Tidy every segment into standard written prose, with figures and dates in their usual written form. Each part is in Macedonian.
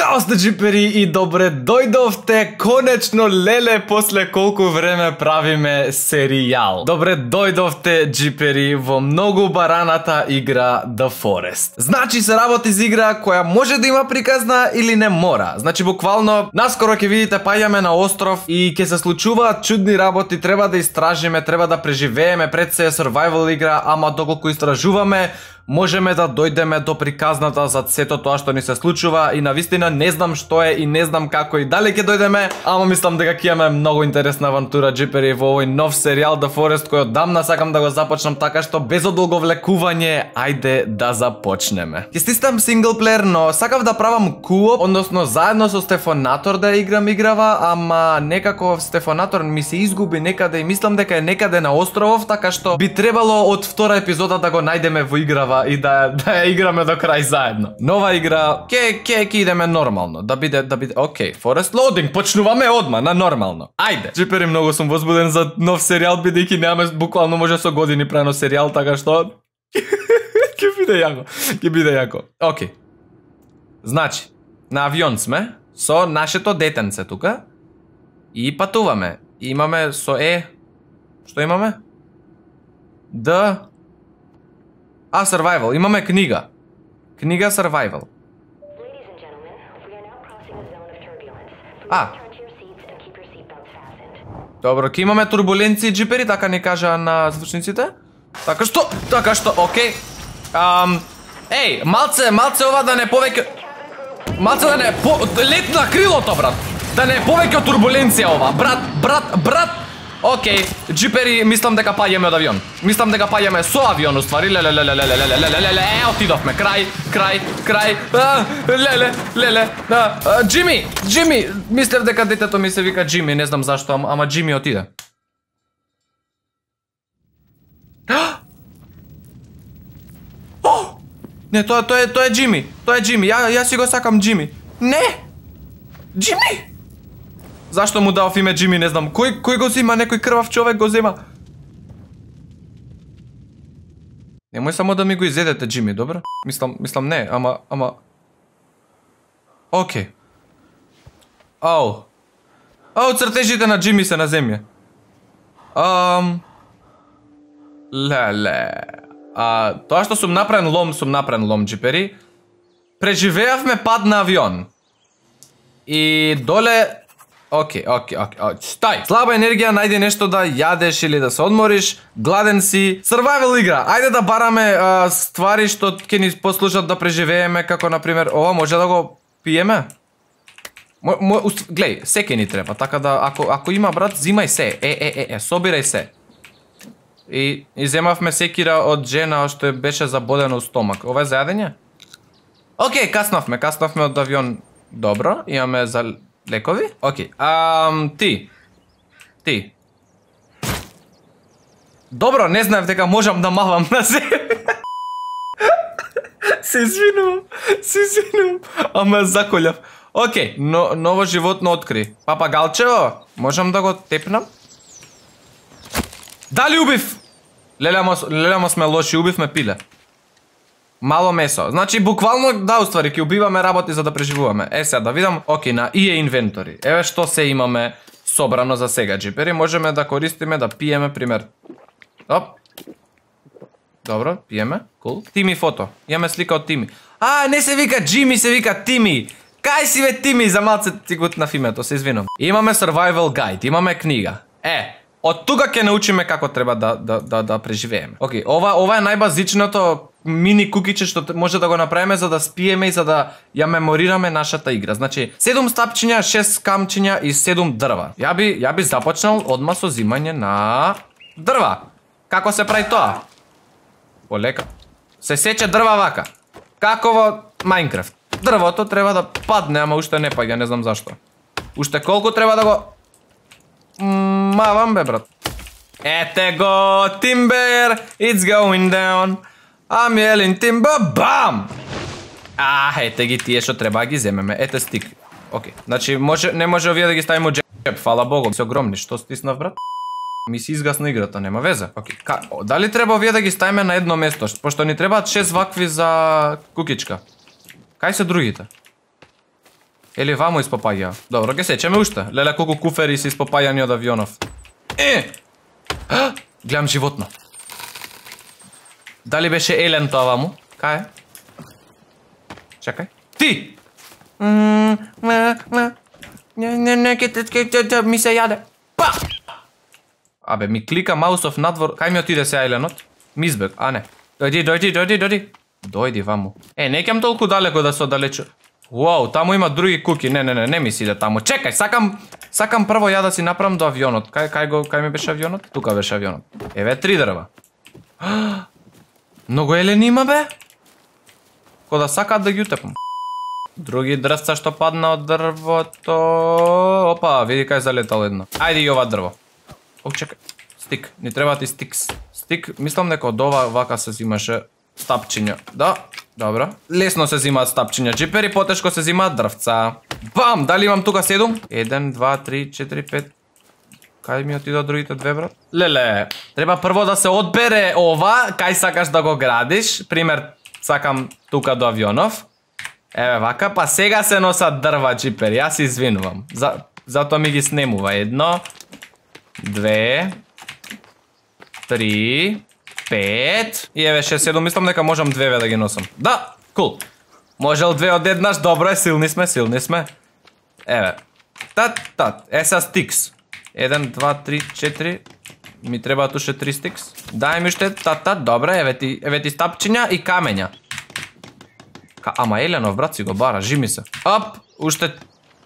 Зdravo сте джипери и добре дојдовте конечно леле после колку време правиме серијал. Добре дојдовте джипери во многу бараната игра The Forest. Значи се работи за игра која може да има приказна или не мора. Значи буквално наскоро ќе видите паѓаме на остров и ќе се случуваат чудни работи, треба да истражиме, треба да преживееме, пред се е survival игра, ама доколку истражуваме можеме да дојдеме до приказната за сето тоа што ни се случува и навистина не знам што е и не знам како и дали ќе дојдеме, ама мислам дека ќе имаме многу интересна авантура джипери во овој нов серијал The Forest кој одамна сакам да го започнам, така што без одолговлекување ајде да започнеме. Ќе стискам синглплеер, но сакав да правам кооп, односно заедно со Стефонатор да играм играва, ама некако Стефонатор ми се изгуби некаде и мислам дека е некаде на островов, така што би требало од втора епизода да го најдеме во играва и да ја играме до крај заедно. Нова игра, ќе идеме нормално, да биде, окей, Forest Loading, почнуваме одма на нормално. Ајде. Джипери, многу сум возбуден за нов серијал, бидејќи немаме буквално може со години прено серијал, така што ќе биде јако. Окей. Значи, на авион сме со нашето детенце тука и патуваме. Имаме со што имаме? Survival. Имаме книга. Книга Survival. Добро, ке имаме турбуленции джипери, така ни кажа на звучниците. Така што, окей. Малце ова да не повеќе... Малце да не лет на крилото, брат. Да не е повеќе од турбуленција ова. Брат. Окей, джипери, мислам дека паѓаме од авион. Мислам дека паѓаме со авион, уствари. Отидовме, крај. Леле. Джими, мислев дека детето ми се вика Джими, не знам зашто, ама Джими отиде. Не, тоа е Джими. Јас си го сакам Джими. Не! Джими! Зашто му дав име Джими, не знам. Кој го зема? Некој крвав човек го зема. Немој само да ми го изедете, Джими, добро? Мислам не, ама... Окей. Цртежите на Джими се на земја. Леле. Тоа што сум направен лом, джипери. Преживеавме пад на авион. И доле... Окей, стай! Слаба енергија, најди нешто да јадеш или да се одмориш, гладен си. Survival игра, ајде да бараме ствари што ќе ни послужат да преживееме, како например, ова може да го пиеме? Глеј, се ќе ни треба, така да, ако има брат, зимај се, собирај се. И земавме секира од жена што беше забодена у стомак. Ова е за јадење? Окей, каснавме од авион. Добро, имаме за... лекови? Окей. Ти. Добро, не знаев дека можам да мавам на себе. Се извинувам. Ама заколјав. Окей, ново животно откри. Папагалчево, можам да го тепнам? Дали убив? Лелемо сме лоши, убивме пиле. Мало месо. Значи буквално уствари ќе убиваме работи за да преживуваме. Сега да видам. Окей, на EA инвентори. Еве што се имаме собрано за сега джипери. Можеме да користиме да пиеме пример. Добро, пиеме. Кул. Тими фото. Имаме слика од Тими. Не се вика Джими, се вика Тими. Кај си бе Тими, за малце ти гутнав името, се извинувам. Имаме survival guide, имаме книга. Од тука ќе научиме како треба да преживееме. Окей, ова е најбазичното мини кукиче што може да го направиме за да спиеме и за да ја меморираме нашата игра. Значи, 7 стапчиња, 6 камчиња и 7 дрва. Ја би започнал одма со зимање на дрва. Како се прави тоа? Полека. Се сече дрва вака. Како во Minecraft. Дрвото треба да падне, ама уште не паѓа, не знам зашто. Уште колку треба да го мавам бе, брат. Ете го, Timber, it's going down. I'm yelling Timber, бам! Ете ги тие што треба да ги земеме. Ете стик. Окей, значи не може овие да ги ставиме од джеп, фала Богу. Се огромни, што стиснав, брат? Ми се изгасна играта, нема везе. Окей, дали треба овие да ги ставиме на едно место? Пошто ни требаат 6 вакви за кукичка. Кај се другите? Или вамо испопаѓа. Добро, ке сечеме уште. Леле колку куфери се испопаѓани од авионов. Гледам животно. Дали беше Елен тоа ваму? Кај е? Чекај. Ти! Ми се јаде. Па! Абе, ми клика маусов надвор. Кај ми отиде се Еленот? Ми избег, а не. Дојди. Дојди ваму. Не ќам толку далеко да се оддалечу. Уау, таму има други куки. Не ми си иде таму. Чекај, сакам прво ја да си направам до авионот. Кај ми беше авионот? Тука беше авионот. Еве 3 дрва. Многу елени има бе? Ко да сакаат да ги утепам. Други дрвца што падна од дрвото. Опа, види кај залетало едно. Ајде и ова дрво. О, чекај. Стик, ни треба ти стикс. Стик, мислам дека од ова вака се зимаше стапчиња. Да, добро. Лесно се зимаат стапчиња. Джипери потешко се зимаат дрвца. Бам, дали имам тука 7? 1, 2, 3, 4, 5. Кај ми отидоа другите две, брат? Леле, треба прво да се одбере ова, кај сакаш да го градиш. Пример, сакам тука до авионов. Еве вака, па сега се носат дрва, джипери. Јас се извинувам. Затоа ми ги снемува. 1, 2, 3, 5 и еве 6, 7, мислам дека можам 2 да ги носам. Да, кул. Можел 2 од еднаш, добро е, силни сме. Еве. Тат. Еса стикс. 1, 2, 3, 4. Ми требаат уште 3 стикс. Дај ми уште тат, добро, еве ти стапчиња и камења. Ама Еленов, брат, си го бара, жими се. Оп, уште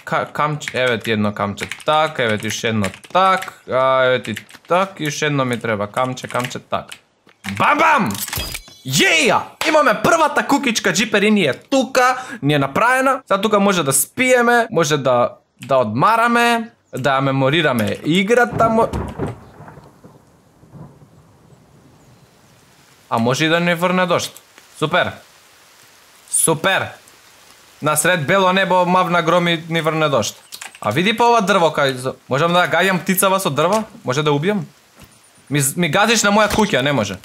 камче, еве ти едно камче так, еве ти уште едно так, еве ти так и уште едно ми треба камче так. Бам! Јеја! Имаме првата кукичка джипери, ни е тука, ни е направена. Сега тука може да спиеме, може да одмараме, да меморираме играта. А може и да не врне дожд. Супер! Насред бело небо мавна громи ни врне дожд. А види па ова дрво кај... Можам да гаѓам птицава со дрво? Може да убијам? Ми газиш на моја куќа, не може.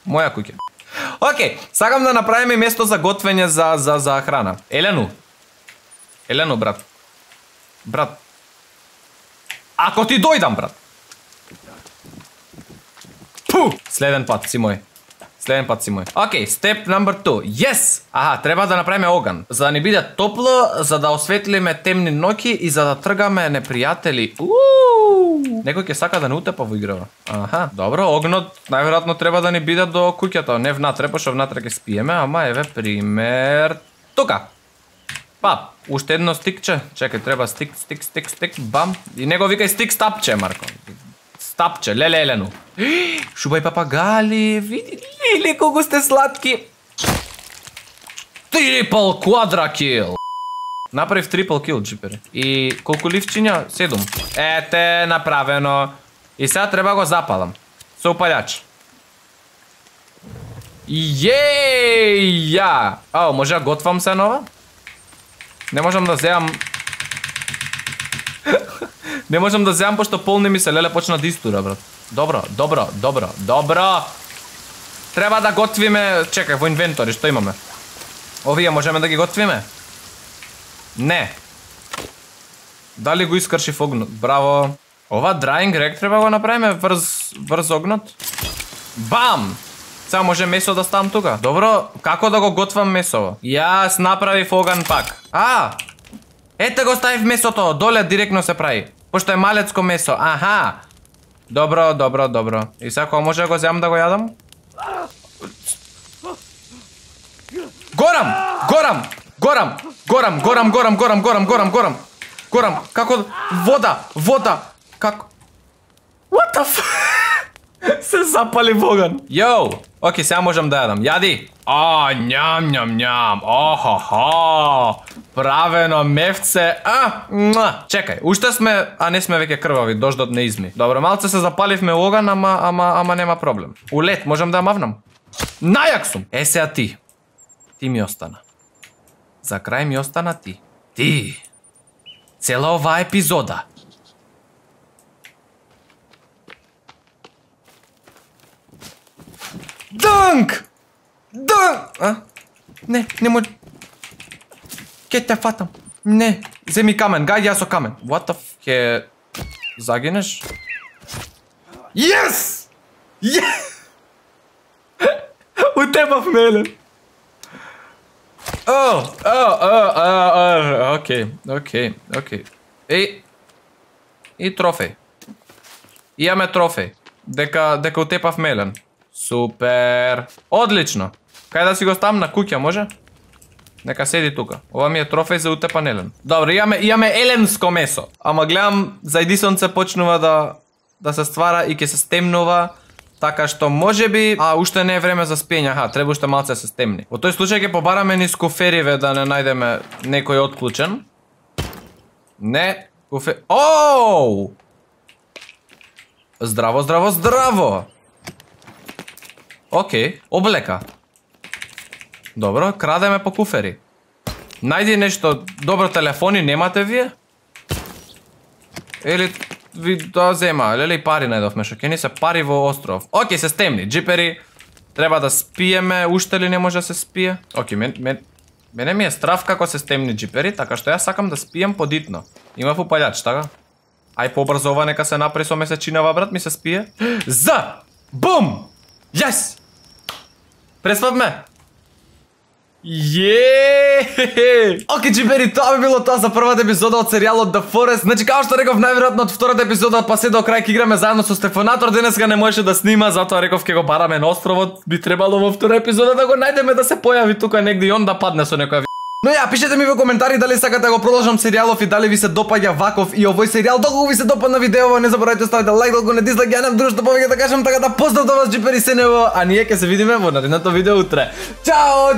Моја куќа. Океј, сакам да направиме место за готвење за храна. Елену, брат. Брат. Ако ти дојдам, брат. Пу! Следен пат си мој. Океј, степ number 2. Yes! Аха, треба да направиме оган. За да ни биде топло, за да осветлиме темни ноќи и за да тргаме непријатели. Некој ќе сака да не утепа во играва. Аха, добро, огнот најверојатно треба да ни биде до куќата, не внатре, пошто внатре ќе спиеме, ама еве пример тука. Па, уште едно стикче. Чекај, треба стик, бам. И него викај стик стапче, Марко. Стапче, леле Елену. Шубај папагали, види ли колку сте сладки. Трипл квадра кил. Направив трипл кил, джипери. И колку ливчиња? 7. Ете, направено. И сега треба го запалам. Со упалјач. Јеја! Ао, може да готвам се нова? Не можам да земам... Не можам да земам, пошто полни ми се, леле почна да истура, брат. Добро. Треба да готвиме... Чекај, во инвентори, што имаме? Овие можеме да ги готвиме? Не. Дали го искршив огнот? Браво. Ова drying rack треба го направиме врз огнот. Бам! Сега може месо да ставам тука. Добро, како да го готвам месово? Јас направив оган пак. Ете го ставив месото, доле директно се прави. Пошто е малецко месо, аха. Добро. И сега кога може да го земам да го јадам? Горам, како... Вода, како... What the f... Се запали во оган. Йоу, окей, сега можам да јадам. Јади. Њам. Охо. Правено мевце. Чекај, уште сме, а не сме веќе крвави, дождот не изми. Добро, малце се запаливме оган, ама нема проблем. Улет, можам да мавнам. Најак сум. Сега ти. Ти ми остана. За крај ми остана ти. Ти. Цела оваа епизода. Дънк! Не може... Ке те фатам. Не, земи камен, гај ја со камен. What the f... Ке... Загинеш? Yes! Yes! Утепав мелен. Окей. И трофеј. Имаме трофеј. Дека утепав мелен. Супер. Одлично. Кај да си го ставам на куќа, може? Нека седи тука. Ова ми е трофеј за утепан елен. Добро, имаме еленско месо. Ама гледам, зајди сонце почнува да се ствара и ќе се стемнува. Така што можеби, уште не е време за спиење, треба уште малце да се стемни. Во тој случај ќе побараме низ кофериве да не најдеме некој отклучен. Не, Оу! Здраво! Океј, облека. Добро, крадеме по куфери. Најди нешто, добро, телефони немате вие? Или ви да зема, леле пари најдовме, шо ќе ни се пари во остров. Океј, се стемни, джипери. Треба да спиеме, уште ли не може да се спие? Океј, мене ми е страв како се стемни, джипери, така што јас сакам да спием подитно. Има упалјач, така? Ај побрзо ова нека се направи со месечинава, брат, ми се спие. За! Бум! Јес! Преспавме! Океј, джипери, тоа би било тоа за првата епизода од серијалот The Forest. Значи, како што реков, најверојатно од втората епизода па се до крај ќе играме заедно со Стефанатор. Денеска не можеше да снима, затоа реков ќе го бараме на островот. Би требало во втора епизода да го најдеме, да се појави тука негде и он да падне со некоја. Но ја, пишете ми во коментари дали сакате да го продолжам серијалов и дали ви се допаѓа ваков и овој серијал. Доколку ви се допадна видеово, не заборавајте ставите лайк, доколку не дизлайк, ја немам друштво повеќе да кажам, така да поздрав до вас, джипери Сенево, а ние ќе се видиме во наредното видео утре. Чао!